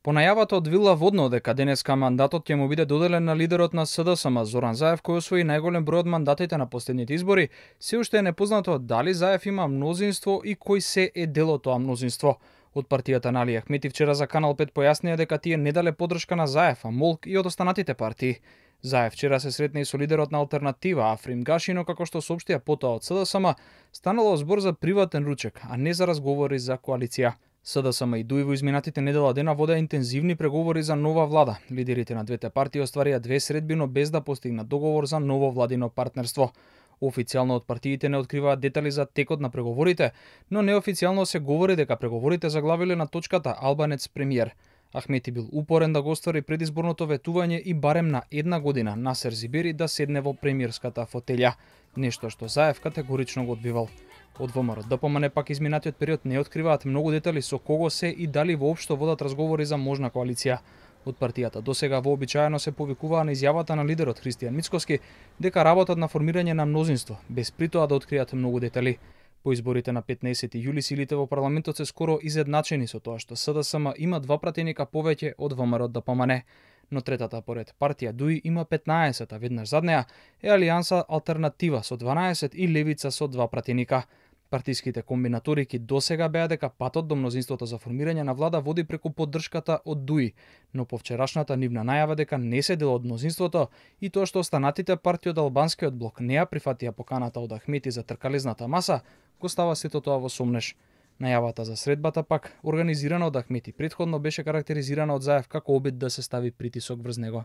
По најавата од Вила Водно дека денеска мандатот ќе му биде доделен на лидерот на СДСМ Зоран Заев, кој освои најголем број од мандатите на последните избори, се уште е непознато дали Заев има мнозинство и кој се е дел од тоа мнозинство. Од партијата на Али Ахмети вчера за Канал 5 појаснија дека тие не дале поддршка на Заев, а молк и од останатите партии. Заев вчера се сретна и со лидерот на Алтернатива Африм Гаши, но како што соопштија потоа од СДСМ, станало збор за приватен ручек, а не за разговори за коалиција. СДСМ и ДУИ во изминатите недела дена водеа интензивни преговори за нова влада. Лидерите на двете партии остварија две средби, но без да постигнат договор за ново владино партнерство. Официјално од партиите не откриваат детали за текот на преговорите, но неофицијално се говори дека преговорите заглавиле на точката албанец премиер. Ахмети бил упорен да го оствари предизборното ветување и барем на една година Насер Зибери да седне во премиерската фотелја, нешто што Заев категорично го одбивал. Од ВМРО ДПМН пак изминатиот период не откриваат многу детали со кого се и дали воопшто водат разговори за можна коалиција. Од партијата досега вообичаено се повикуваа на изјавата на лидерот Христијан Мицкоски дека работат на формирање на мнозинство, без при тоа да откријат многу детали. По изборите на 15 јули силите во парламентот се скоро изедначени со тоа што СДСМ има 2 пратеника повеќе од ВМРО ДПМН, но третата поред партија ДУИ има 15, а веднаш зад неа е Алијанса Алтернатива со 12 и Левица со 2 пратеника. Партиските комбинаторики досега беа дека патот до мнозинството за формирање на влада води преку поддршката од ДУИ, но по вчерашната нивна најава дека не се дел од мнозинството и тоа што останатите партии од албанскиот блок не ја прифатија поканата од Ахмети за тркалезната маса, го става сето тоа во сомнеш. Најавата за средбата пак, организирана од Ахмети, претходно беше карактеризирана од Заев како обид да се стави притисок врз него.